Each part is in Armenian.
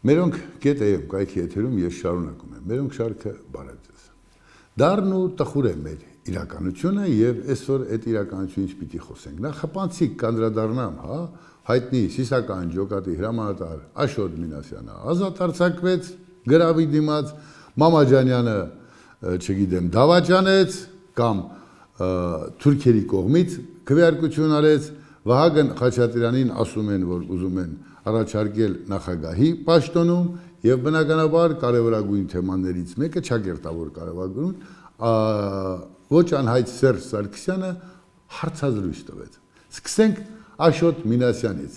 Մերոնք գետ է և կայքի եթերում ես շարունակում եմ, մերոնք շարքը բարև ձեզ։ Դարն ու տխուր է մեր իրականությունը և այսօր այդ իրականությունից պիտի խոսենք։ Նախ խփանցիկ կանդրադառնամ, հայտնի սիսական ջոկատի հրամանատար Աշոտ Մինասյանը ազատ արձակվեց գրավի դիմաց, Մամաջանյանը, չգիտեմ, դավաճանեց կամ թուրքերի կողմից քվեարկություն արեց, Վահագն Խաչատրյանին ասում են, որ ուզում են առաջարկել նախագահի պաշտոնում և բնականաբար կարևորագույն թեմաներից մեկը ճակերտավոր կարևորագույն ոչ անհայտ Սերժ Սարգսյանը հարցազրույց տվեց։ Սկսենք Աշոտ Մինասյանից։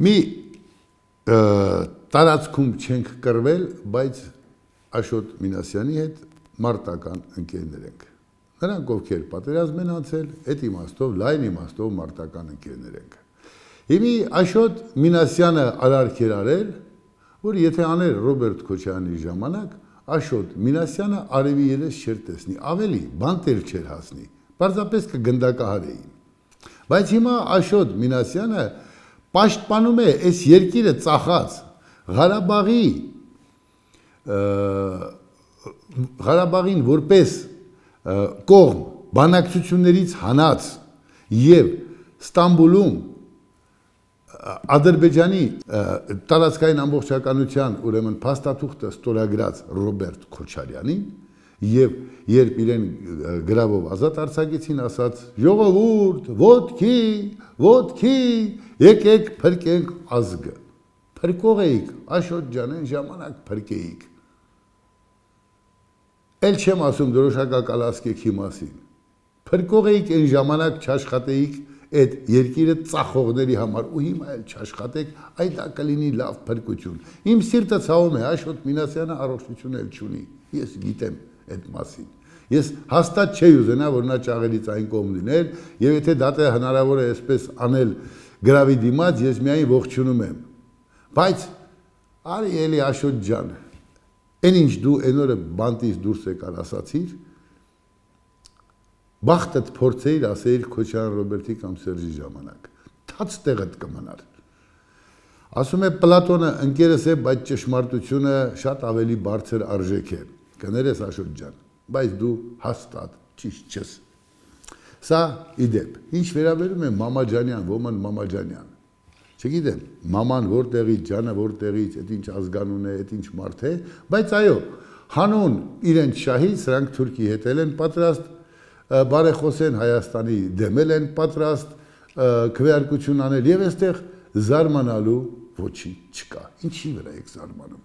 Մի տարածքում չենք կռվել, բայց Աշոտ Մինասյանի հետ մարտական ընկերներ ենք։ Նրանք ովքեր պատերազմ են անցել, այդ իմաստով, լայն իմաստով մարտական ընկերներ ենք։ Հիմի Աշոտ Մինասյանը արարք էր արել, որ եթե աներ Ռոբերտ Քոչարյանի ժամանակ, Աշոտ Մինասյանը արևի երես չէր տեսնի, ավելի բանտեր չէր հասնի, պարզապես կգնդակահարեին։ Բայց հիմա Աշոտ Մինասյանը պաշտպանում է այս երկիրը ծախած Ղարաբաղին որպես կողմ բանակցություններից հանած և Ստամբուլում Ադրբեջանի տարածքային ամբողջականության ուրեմն փաստաթուղթը ստորագրած Ռոբերտ Քոչարյանին և երբ իրեն գրավով ազատ արձակեցին, ասաց. «Ժողովուրդ, ոտքի, եկեք փրկենք ազգը»։ Փրկող էիք, Աշոտ ջան, այն ժամանակ փրկեիք։ Էլ չեմ ասում դրոշակակալասկեքի մասին։ Փրկող էիք այն ժամանակ չաշխատեիք այդ երկիրը ծախողների համար ու հիմա էլ չաշխատեք, այ դա կլինի լավ փրկություն։ Իմ սիրտը ցավում է, Աշոտ Մինասյանը առողջություն էլ չունի։ Ես գիտեմ այդ մասին։ Ես հաստատ չէի ուզենա, որ նա ճաղերից այն կողմ լիներ, եւ եթե դա հնարավոր է այսպես անել գրավի դիմաց, ես միայն ողջունում եմ։ Բայց արի էլի Աշոտ ջան, այն ինչ դու այն օրը բանտից դուրս եկար ասացիր, բախտդ փորձեիր ասեիր Քոչարյան Ռոբերտի կամ Սերժի ժամանակ, թաց տեղդ կմնար։ Ասում է Պլատոնը ընկերս է, բայց ճշմարտությունը շատ ավելի բարձր արժեք է, կներես Աշոտ ջան, բայց դու հաստատ ճիշտ չես։ Սա իդեպ, ինչ վերաբերում է Մամաջանյան, ոմն Մամաջանյան, չգիտեմ, մաման որտեղից, ջանը որտեղից, այդ ինչ ազգանուն է, այդ ինչ մարդ է, բայց այո, հանուն իրենց շահի, սրանք Թուրքի հետ են պատրաստ, բարեխոսեն Հայաստանի դեմել են պատրաստ, քվեարկություն անել և այստեղ զարմանալու ոչինչ չկա, ինչի վրա եք զարմանում։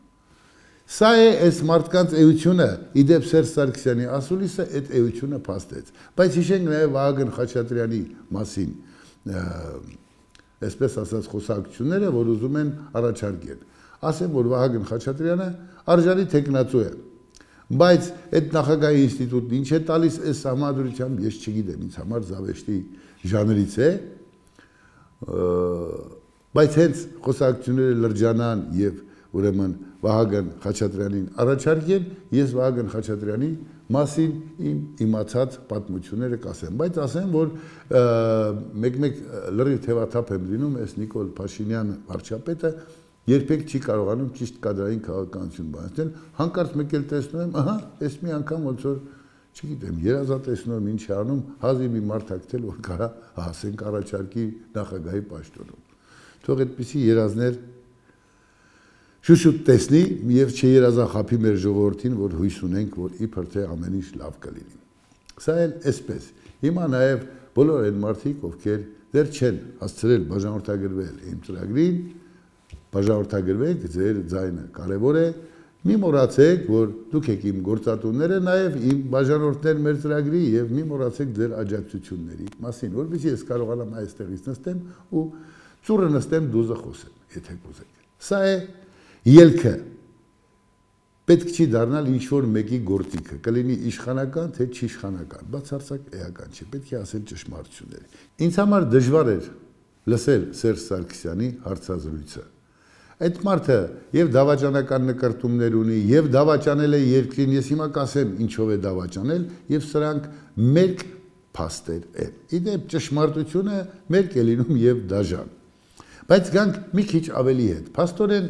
Սա է այս մարդկանց էությունը, իդեպ Սերժ Սարգսյանի ասուլիսը այդ էությունը փաստեց, բայց հիշենք նաև Վահագն Խաչատրյանի մասին, այսպես ասած խոսակցությունները, որ ուզում են առաջարկել։ Ասեմ, որ Վահագն Խաչատրյանը արժանի թեկնածու է, բայց այդ նախագահի ինստիտուտն ինչ է տալիս այս համադրությամբ, ես չգիտեմ, ինձ համար զավեշտի ժանրից է, բայց հենց խոսակցությունները լրջանան և ուրեմն Վահագն Խաչատրյանին առաջարկեն, ես Վահագն Խաչատրյանի մասին իմ իմացած պատմությունները կասեմ, բայց ասեմ, որ մեկ-մեկ լրիվ թևաթափ եմ լինում, այս Նիկոլ Փաշինյան վարչապետը երբեք չի կարողանում ճիշտ կադրային քաղաքականություն բանացնել, հանկարծ մեկ էլ տեսնում եմ, ահա, այս մի անգամ ոնց որ, չգիտեմ, երազատեսնում եմ ինչ է անում, հազիվ մի մարդ ակտել, որ կարա հասենք առաջարկի նախագահի պաշտոնում։ Թող այդպիսի երազներ շուշուտ տեսնի և չերազախաբի մեր ժողովրդին, որ հույս ունենք, որ իբր թե ամեն ինչ լավ կլինի։ Սա էլ այսպես։ Հիմա նաև բոլոր այն մարդիկ, ովքեր դեռ չեն հասցրել բաժանորդագրվել իմ ծրագրին, բաժանորդագրվեք, ձեր ձայնը կարևոր է, մի մոռացեք, որ դուք եք իմ գործատուները, նաև իմ բաժանորդներ մեր ծրագրի և մի մոռացեք ձեր աջակցությունների մասին, որպեսզի ես կարողանամ այստեղից նստեմ ու ծուռը նստեմ դուզը խոսեմ, եթե կուզեք։ Սա է ելքը, պետք չի դառնալ ինչ-որ մեկի գործիքը, կլինի իշխանական, թե չիշխանական, բացարձակ էական չէ, պետք է ասել ճշմարտությունները։ Ինձ համար դժվար էր լսել Սերժ Սարգսյանի հարցազրույցը։ Այդ մարդը և դավաճանական նկրտումներ ունի, և դավաճանել է երկրին, ես հիմա կասեմ ինչով է դավաճանել, և սրանք մերկ փաստեր են։ Իդեպ ճշմարտությունը մերկ է լինում և դաժան։ Բայց գանք մի քիչ ավելի հետ։ Փաստորեն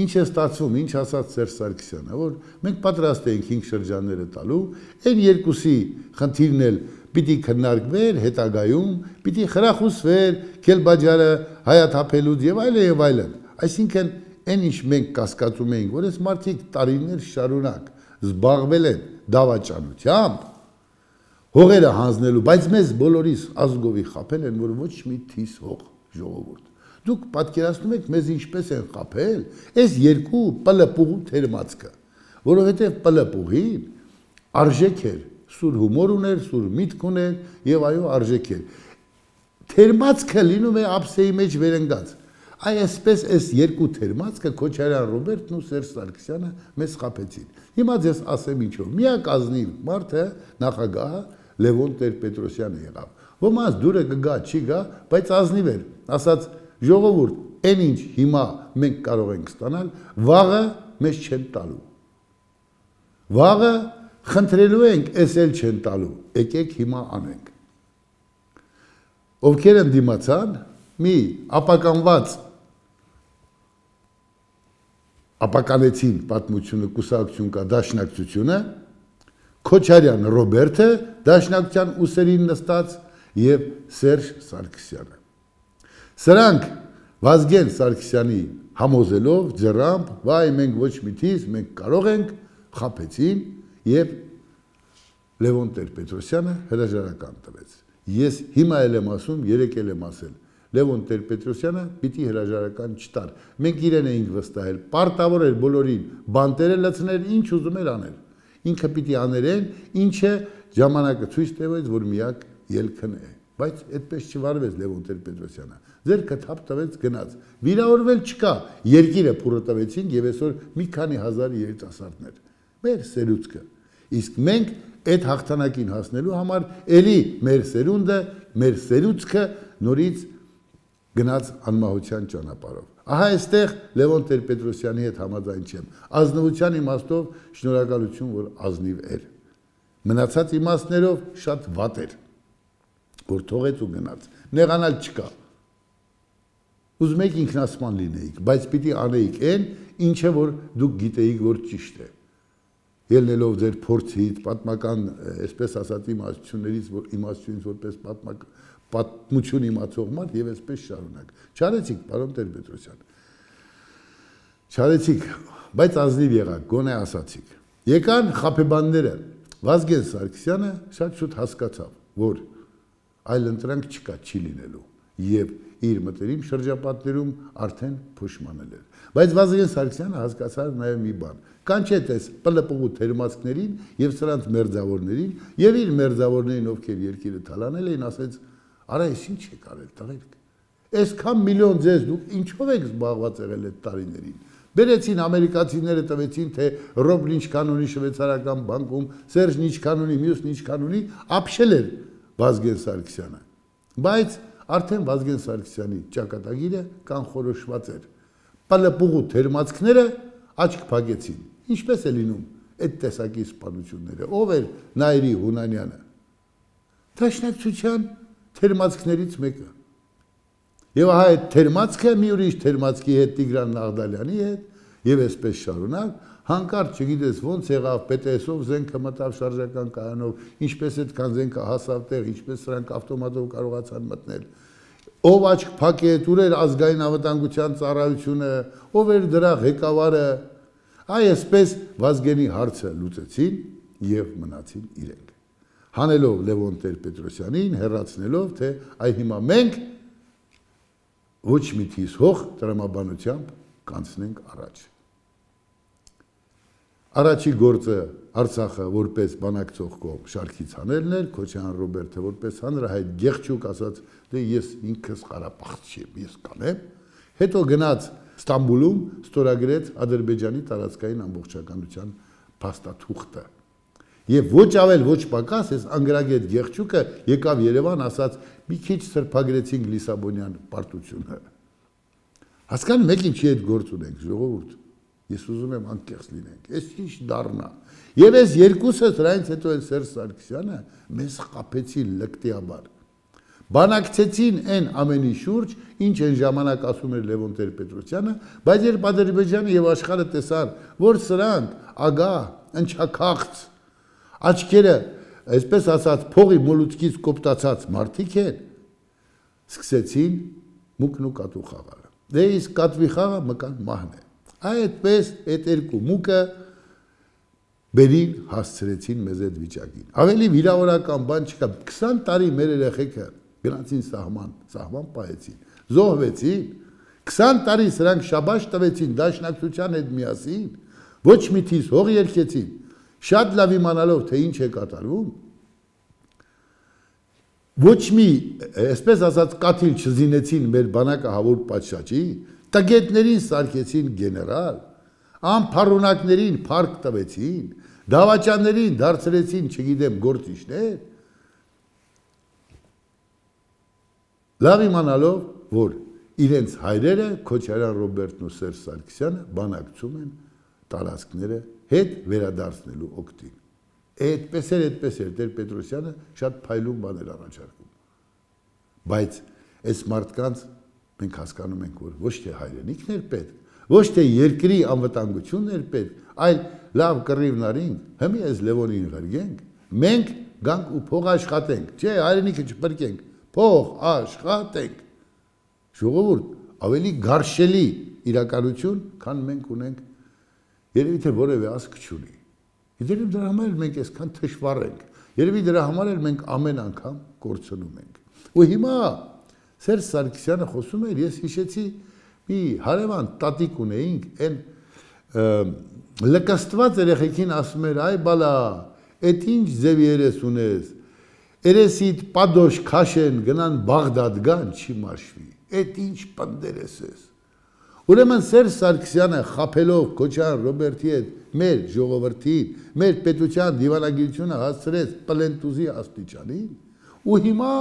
ինչ է ստացվում, ինչ ասաց Սերժ Սարգսյանը, որ մենք պատրաստ ենք 5 շրջանները տալու, այն երկուսի խնդիրն էլ պիտի քննարկվեր հետագայում, պիտի խրախուսվեր Քելբաջարը հայաթափելուց եւ այլն։ Այսինքն այն ինչ մենք կասկածում էինք, որ այս մարդիկ տարիներ շարունակ զբաղվել են դավաճանությամբ, հողերը հանձնելու, բայց մեզ բոլորիս ազգովի խաբել են, որ ոչ մի թիս հող ժողովուրդ։ Դուք պատկերացնում եք մեզ ինչպես են խաբել այս երկու պլպուղու թերմացքը, որովհետև պլպուղին արժեք էր, սուր հումոր ուներ, սուր միտք ուներ եւ այո արժեք էր։ Թերմացքը լինում է ափսեի մեջ վերընկած։ Այսպես այս երկու թերմացքը Քոչարյան Ռոբերտն ու Սերժ Սարգսյանը մեզ խաբեցին։ Հիմա ձեզ ասեմ ինչով։ Միակ ազնիվ մարդը նախագահը Լևոն Տեր-Պետրոսյանը եղավ։ Ոմանց դուրը կգա, չի գա, բայց ազնիվ էր, ասաց ժողովուրդ, այն ինչ հիմա մենք կարող ենք ստանալ, վաղը մեզ չեն տալու։ Վաղը խնդրելու ենք, էս էլ չեն տալու, եկեք հիմա անենք։ Ովքեր են դիմացան, մի ապականված ապականեցին պատմությունը կուսակցություն կա դաշնակցությունը, Քոչարյան Ռոբերտը դաշնակցության ուսերին նստած եւ Սերժ Սարգսյանը։ Սրանք Վազգեն Սարգսյանի համոզելով ձեռամբ, վայ մենք ոչ մի թիս, մենք կարող ենք, խաբեցին եւ Լևոն Տեր-Պետրոսյանը հրաժարական տվեց։ Ես հիմա էլ եմ ասում, երեք էլ եմ ասել, Լևոն Տեր-Պետրոսյանը պիտի հրաժարական չտար։ Մենք իրեն էինք վստահել, պարտավոր էր բոլորին բանտերը լցնել, ինչ ուզում էր անել։ Ինքը պիտի աներեն, ինչը ժամանակը ցույց տվեց, որ միակ ելքն է։ Բայց այդպես չվարվեց Լևոն Տեր-Պետրոսյանը։ Ձերքը թափ տվեց գնաց։ Վիրավորվել չկա, երկիրը փուրը տվեցին եւ այսօր մի քանի հազար երիտասարդներ։ Մեր սերուցքը։ Իսկ մենք այդ հաղթանակին հասնելու համար էլի մեր սերունդը, մեր սերուցքը նորից գնաց անմահության ճանապարհով։ Ահա այստեղ Լևոն Տեր-Պետրոսյանի հետ համաձայն չեմ։ Ազնվության իմաստով շնորհակալություն, որ ազնիվ էր։ Մնացած իմաստներով շատ վատ էր, որ թողեց ու գնաց։ Նեղանալ չկա։ Ուզում եք ինքնասման լինեիք, բայց պիտի անեիք այն, ինչը որ դուք գիտեիք, որ ճիշտ է։ Ելնելով ձեր փորձից, պատմական, այսպես ասած, իմաստությունից որպես պատմություն իմացող մարդ եւ այսպես շարունակ։ Չարեցիք, պարոն Տեր-Պետրոսյան։ Չարեցիք, բայց ազնիվ եղաք, գոնե ասացիք։ Եկան խաբեբանները, Վազգեն Սարգսյանը շատ շուտ հասկացավ, որ այլ ընտրանք չկա, չի լինելու եւ իր մտերիմ շրջապատներում արդեն փոշմանել էր։ Բայց Վազգեն Սարգսյանը հասկացավ նաեւ մի բան։ Կանչեց այս պլպուղու թերմացքներին եւ սրանց մերձավորներին եւ իր մերձավորներին, ովքեր երկիրը թալանել էին, ասեց. «Արա, ես ինչ եք արել, տղերք։ Այսքան միլիոն ձեզ դուք ինչով եք զբաղված եղել այդ տարիներին։ Բերեցին ամերիկացիները տվեցին, թե Ռոբն ինչքան ունի շվեյցարական բանկում, Սերժն ինչքան ունի, մյուսն ինչքան ունի, ապշել էր Վազգեն Սարգսյանը։ Բայց արդեն Վազգեն Սարգսյանի ճակատագիրը կանխորոշված էր։ Պլպուղու թերմացքները աչք փակեցին։ Ինչպես է լինում այդ տեսակի սպանությունները։ Ով էր Նայիրի Հունանյանը։ Դաշնակցության թերմացքներից մեկը։ Եվ ահա այդ թերմացքը մի ուրիշ թերմացքի հետ Տիգրան Նաղդալյանի հետ եւ այսպես շարունակ, հանկարծ չգիտես ոնց եղավ, ՊՏՍ-ով զենքը մտավ շարժական կայանով, ինչպես այդքան զենքը հասավ տեղ, ինչպես սրանք ավտոմատով կարողացան մտնել։ Ով աչք փակեց, ուր էր ազգային անվտանգության ծառայությունը, ով էր դրա ղեկավարը։ Այսպես Վազգենի հարցը լուծեցին եւ մնացին իրենք։ Հանելով Լևոն Տեր-Պետրոսյանին, հեռացնելով, թե այ հիմա մենք ոչ մի թիս հող տրամաբանությամբ կանցնենք առաջ։ Առաջի գործը Արցախը որպես բանակցող կողմ շարքից հանելն էր, Քոչարյան Ռոբերտը որպես հանրահայտ գեղչուկ ասաց, դե ես ինքս Ղարաբաղցի եմ, ես կանեմ։ Հետո գնաց Ստամբուլում ստորագրեց Ադրբեջանի տարածքային ամբողջականության փաստաթուղթը։ Եվ ոչ ավել ոչ պակաս այս անգրագետ գեղչուկը եկավ Երևան, ասաց մի քիչ սրբագրեցինք Լիսաբոնյան պարտությունը։ Հասկանում եք ինչի հետ գործ ունենք, ժողովուրդ։ Ես ուզում եմ անկեղծ լինենք։ Այս ինչ դառնա։ Եվ այս երկուսը դրանից հետո էլ Սերժ Սարգսյանը մեզ խաբեցին լկտիաբար։ բանակցեցին այն ամենի շուրջ, ինչ այն ժամանակ ասում էր Լևոն Տեր-Պետրոսյանը, բայց երբ Ադրբեջանը եւ աշխարհը տեսան, որ սրանք ագահ, ընչաքաղց, աչքերը, այսպես ասած, փողի մոլուցկից կոպտացած մարդիկ են, սկսեցին մուկն ու կատու խաղալ։ Դե իսկ կատվի խաղը մկան մահն է։ Այդպես այդ երկու մուկը բերին հասցրեցին մեզ այդ վիճակին։ Ավելի վիրավորական բան չկա, 20 տարի մեր երեխեքը գնացին սահման պահեցին, զոհվեցին, 20 տարի սրանք շաբաշ տվեցին դաշնակցության հետ միասին, ոչ մի թիս հող երգեցին, շատ լավ իմանալով, թե ինչ է կատարվում, ոչ մի, այսպես ասած, կաթիլ չզինեցին մեր բանակահավոր պատշաճի, տգետներին սարքեցին գեներալ, անփառունակներին փառք տվեցին, դավաճաններին դարձրեցին, չգիտեմ, գործիչներ, լավ իմանալով, որ իրենց հայրերը, Քոչարյան Ռոբերտն ու Սերժ Սարգսյանը բանակցում են տարածքները հետ վերադարձնելու օգտին։ Այդպես էր Տեր-Պետրոսյանը շատ փայլուն բաներ առաջարկում։ Բայց այս մարդկանց մենք հասկանում ենք, որ ոչ թե հայրենիքն էր պետք, ոչ թե երկրի անվտանգությունն էր պետք, այլ լավ կռիվնարինք, հմի այս Լևոնին ղրգենք, մենք գանք ու փող աշխատենք, չէ, հայրենիքը չփրկենք, փող աշխատենք։ Ժողովուրդ, ավելի գարշելի իրականություն, քան մենք ունենք, երևի թե որևէ ազգ չունի։ Երևի դրա համար էլ մենք այսքան թշվառ ենք, երևի դրա համար էլ մենք ամեն անգամ կորցնում ենք։ Ու հիմա Սերժ Սարգսյանը խոսում էր, ես հիշեցի մի հարևան տատիկ ունեինք, այն լկստված երեխեքին ասում էր, այ բալա, այդ ինչ ձև երես ունես, երեսիդ պադոշ քաշեն, գնան Բաղդադ գան, չի մաշվի, այդ ինչ պնդերես ես։ Ուրեմն Սերժ Սարգսյանը խաբելով Քոչարյան Ռոբերտի հետ մեր ժողովրդին, մեր պետության դիվանագիտությունը հասցրեց պլենտուզի աստիճանին, ու հիմա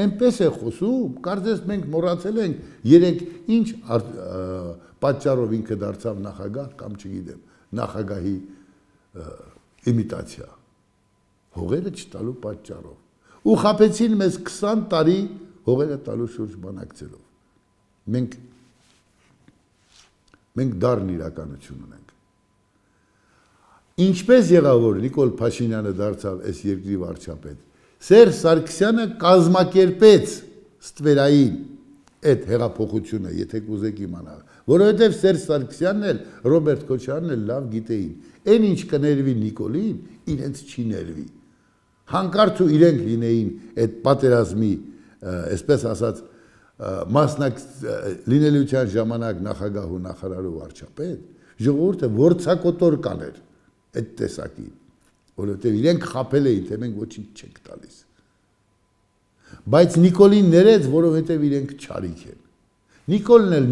այնպես է խոսում, կարծես մենք մոռացել ենք երեք ինչ պատճառով ինքը դարձավ նախագահ կամ չգիտեմ, նախագահի իմիտացիա, հողերը չտալու պատճառով, ու խաբեցին մեզ 20 տարի հողերը տալու շուրջ բանակցելով։ Մենք դառն իրականություն ունենք։ Ինչպես եղավ, որ Նիկոլ Փաշինյանը դարձավ այս երկրի վարչապետ, Սերժ Սարգսյանը կազմակերպեց ստվերային այդ հեղափոխությունը, եթե կուզեք իմանալ, որովհետև Սերժ Սարգսյանն էլ, Ռոբերտ Քոչարյանն էլ լավ գիտեին, այն ինչ կներվի Նիկոլին, իրենց չի ներվի։ Հանկարծ ու իրենք լինեին այդ պատերազմի, այսպես ասած, լինելիության ժամանակ նախագահ ու նախարար ու վարչապետ, ժողովուրդը որցակոտոր կաներ այդ տեսակին, որովհետև իրենք խաբել էին, թե մենք ոչինչ չենք տալիս։ Բայց Նիկոլին ներեց, որովհետև իրենք չարիք են։ Նիկոլն էլ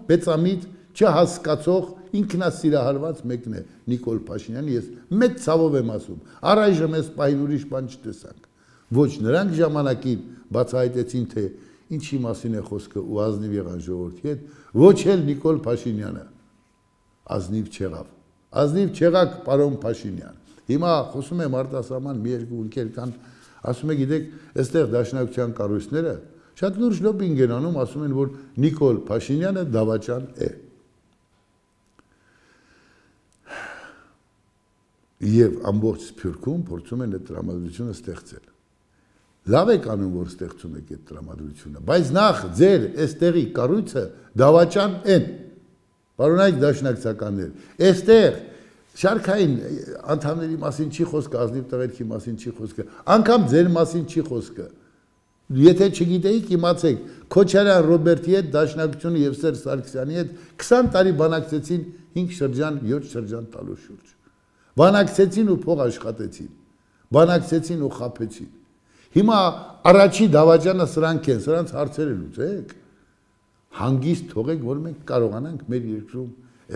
մեծամիտ, չհասկացող, ինքնասիրահարված մեկն է Նիկոլ Փաշինյանը, ես մեծ ցավով եմ ասում, առայժմ այս պահին ուրիշ բան չտեսանք։ Ոչ նրանք ժամանակին բացահայտեցին, թե ինչի մասին է խոսքը ու ազնիվ եղան ժողովրդի հետ, ոչ էլ Նիկոլ Փաշինյանը ազնիվ չեղավ։ Ազնիվ չեղաք, պարոն Փաշինյան։ Հիմա խոսում եմ արտասահման մի երկու ընկեր կան, ասում է, գիտեք, այստեղ դաշնակցության կառույցները շատ լուրջ լոբինգ են անում, ասում են, որ Նիկոլ Փաշինյանը դավաճան է։ Եվ ամբողջ Սփյուռքում փորձում են այդ տրամադրությունը ստեղծել։ Լավ եք անում, որ ստեղծում եք այդ տրամադրությունը, բայց նախ ձեր այստեղի կառույցը դավաճան են։ Պարոնայք դաշնակցականներ, այստեղ շարքային անդամների մասին չի խոսքը, ազնիվ տղերքի մասին չի խոսքը, անգամ ձեր մասին չի խոսքը։ Եթե չգիտեիք, իմացեք, Քոչարյան Ռոբերտի հետ դաշնակցությունը եւ Սերժ Սարգսյանի հետ 20 տարի բանակցեցին 5 շրջան, 7 շրջան տալու շուրջ։ Բանակցեցին ու փող աշխատեցին, բանակցեցին ու խաբեցին։ Հիմա առաջի դավաճանը սրանք են, սրանց հարցերը լուծեք, հանգիստ թողեք, որ մենք կարողանանք մեր երկրում,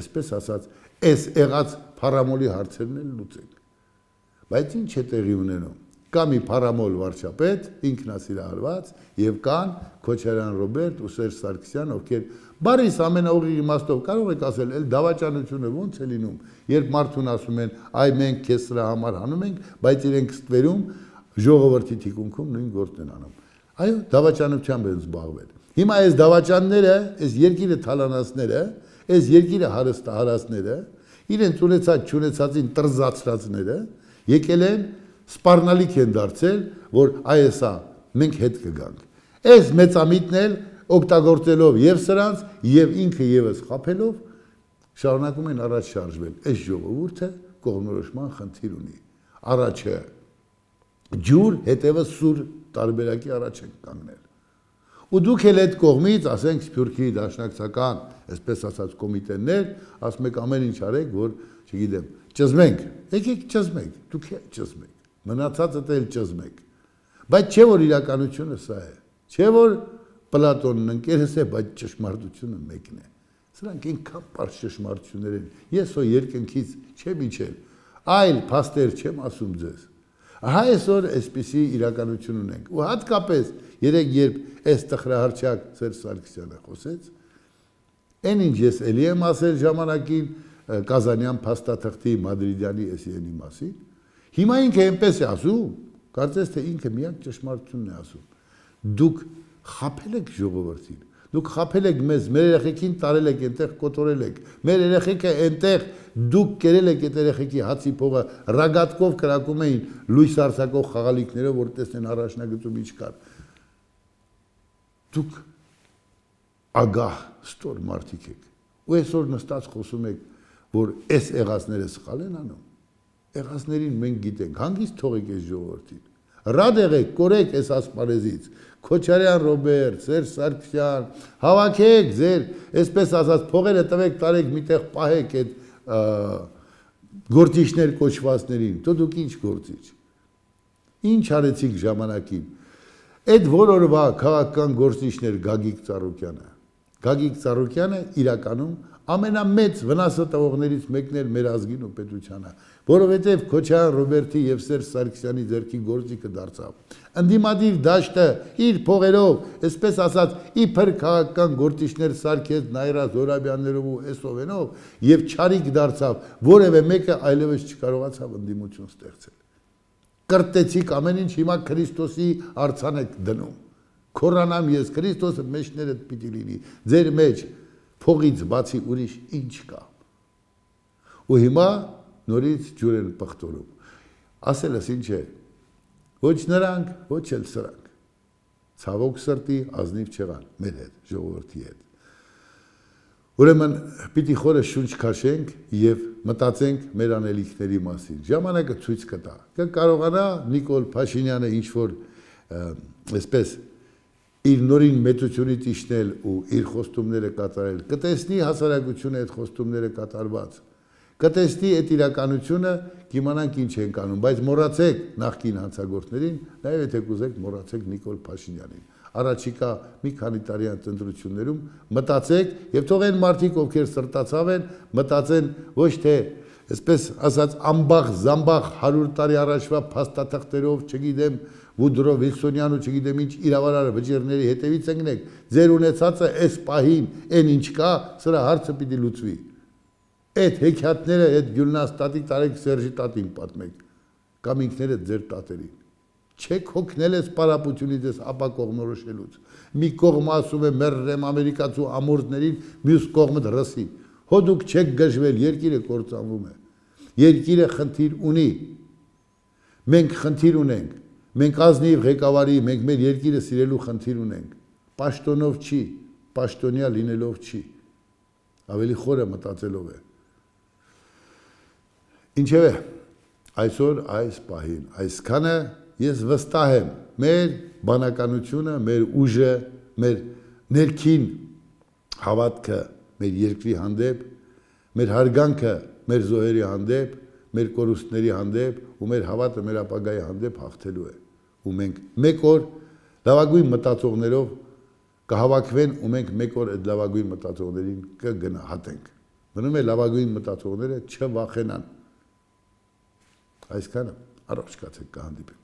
այսպես ասած, այս եղած փառամոլի հարցերն էլ լուծենք։ Բայց ինչ է տեղի ունենում։ Կա մի փառամոլ վարչապետ, ինքնասիրահարված, եւ կան Քոչարյան Ռոբերտ ու Սերժ Սարգսյան, ովքեր բարիս ամենաուղիղ իմաստով կարող եք ասել, էլ դավաճանությունը ոնց է լինում, երբ մարդուն ասում են, այ մենք քեզ սրա համար հանում ենք, բայց իրենք ստվերում ժողովրդի թիկունքում նույն գործն են անում։ Այո, դավաճանությամբ են զբաղվել։ Հիմա այս դավաճանները, այս երկիրը թալանածները, այս երկիրը հարստահարածները, իրենց ունեցած-չունեցածին տրզացրածները եկել են սպառնալիք են դարձել, որ այսա մենք հետ կգանք։ Այս մեծամիտն էլ օգտագործելով եւ սրանց եւ ինքը եւս խափելով շարունակում են առաջ շարժվել։ Այս ժողովուրդը կողմնորոշման խնդիր ունի։ Առաջը ջուր, հետևը սուր տարբերակի առաջ են կանգնել։ Ու դուք էլ այդ կողմից, ասենք Սփյուռքի դաշնակցական, այսպես ասած կոմիտեներ, ասում եք ամեն ինչ արեք, որ, չգիտեմ, ճզմենք։ Եկեք ճզմենք, դուք ճզմեք։ Մնացածը էլ ճզմեք։ Բայց չէ որ իրականությունը սա է։ Չէ որ Պլատոնն ընկերս է, բայց ճշմարտությունը մեկն է։ Սրանք ինքան պարզ ճշմարտություններ են։ Ես հո երկնքից չեմ իջել, այլ փաստեր չեմ ասում ձեզ։ Ահա այսօր այսպիսի իրականություն ունենք։ Ու հատկապես երեք երբ այս տխրահարճակ Սերժ Սարգսյանը խոսեց, այն ինչ ես էլի եմ ասել ժամանակին Կազանյան փաստաթղթի Մադրիդյանի SN-ի մասին, հիմա ինքը այնպես է ասում, կարծես թե ինքը միակ ճշմարտությունն է ասում։ Դուք խափել եք ժողովրդին, դուք խափել եք մեզ, մեր երեխեքին տարել եք, այնտեղ կոտորել եք, մեր երեխեքը այնտեղ դուք կերել եք այդ երեխեքի հացի փողը, ռագատկով կրակում էին լույս արձակող խաղալիքներով, որ տեսնեն առաջնագծում ինչ կար։ Դուք ագահ ստոր մարդիկ եք, ու այսօր նստած խոսում եք, որ այս եղածները սխալ են անում։ Եղածներին մենք գիտենք, հանգիստ թողեք այս ժողովրդին։ Ռադ եղեք, կորեք այս ասպարեզից, Քոչարյան Ռոբերտ, Սերժ Սարգսյան, հավաքեք ձեր, այսպես ասած, փողերը տվեք, տարեք միտեղ պահեք այդ գործիչներ կոչվածներին, то դուք ինչ գործիչ։ Ինչ արեցիք ժամանակին։ Այդ որօրվա քաղաքական գործիչներ Գագիկ Ծառուկյանը։ Գագիկ Ծառուկյանը իրականում ամենամեծ վնասը տվողներից մեկն էր մեր ազգին ու պետությանը, որովհետև Քոչարյան Ռոբերտի եւ Սերժ Սարգսյանի ձեռքի գործիքը դարձավ։ Ընդդիմադիր դաշտը իր փողերով, այսպես ասած, իբր քաղաքական գործիչներ սարքեց Նայրա Զորաբյաններով ու Էսովենով եւ չարիք դարձավ, որևէ մեկը այլևս չկարողացավ ընդդիմություն ստեղծել։ Կրտեցիք ամեն ինչ, հիմա Քրիստոսի արցան եք դնում։ Քորանամ ես, Քրիստոսը մեջներդ պիտի լինի, ձեր մեջ փողից բացի ուրիշ ինչ կա։ Ու հիմա նորից ջուր են պղտորում։ Ասելս ինչ է, ոչ նրանք, ոչ էլ սրանք։ Ցավոք սրտի ազնիվ չեղան մեր հետ, ժողովրդի հետ։ Ուրեմն պիտի խորը շունչ քաշենք եւ մտածենք մեր անելիքների մասին։ Ժամանակը ցույց կտա։ Կկարողանա Նիկոլ Փաշինյանը ինչ որ այսպես իր նորին մեծությունից իջնել ու իր խոստումները կատարել, կտեսնի հասարակությունը այդ խոստումները կատարված, կտեսնի այդ իրականությունը, կիմանանք ինչ ենք անում, բայց մոռացեք նախկին հանցագործներին, նաև եթե կուզեք մոռացեք Նիկոլ Փաշինյանին։ Առաջիկա մի քանի տարի ընտրություններում մտածեք եւ թող այն մարդիկ, ովքեր սրտացավ են, մտածեն ոչ թե այսպես ասած ամբախ զամբախ 100 տարի առաջվա փաստաթղթերով, չգիտեմ, Վուդրո Վիլսոնյան ու չգիտեմ ինչ իրավարար վճիռների հետևից ընկնեք, ձեր ունեցածը այս պահին այն ինչ կա, սրա հարցը պիտի լուծվի։ Այդ հեքիաթները, այդ Գյուլնաստատի տարեք Սերժի տատին պատմեք, կամ ինքներդ ձեր տատերին։ Չեք հոգնել այս պարապությունից, այս ապա կողմնորոշելուց։ Մի կողմը ասում է մերրեմ ամերիկացու ամորձներին, մյուս կողմը ռսի։ Հո դուք չեք գժվել, երկիրը կործանվում է։ Երկիրը խնդիր ունի։ Մենք խնդիր ունենք։ Մենք ազնիվ ղեկավարի, մենք մեր երկիրը սիրելու խնդիր ունենք։ Պաշտոնով չի, պաշտոնյա լինելով չի։ Ավելի խորը մտածելով է։ Ինչևէ, այսօր այս պահին, այսքանը ես վստահ եմ, մեր բանականությունը, մեր ուժը, մեր ներքին հավատքը մեր երկրի հանդեպ, մեր հարգանքը մեր զոհերի հանդեպ, մեր կորուստների հանդեպ ու մեր հավատը մեր ապագայի հանդեպ հաղթելու է։ Ու մենք մեկ օր լավագույն մտածողներով կհավաքվեն ու մենք մեկ օր այդ լավագույն մտածողներին կգնահատենք։ Մնում է լավագույն մտածողները չվախենան։ Այսքանը, առողջ կացեք, կհանդիպենք։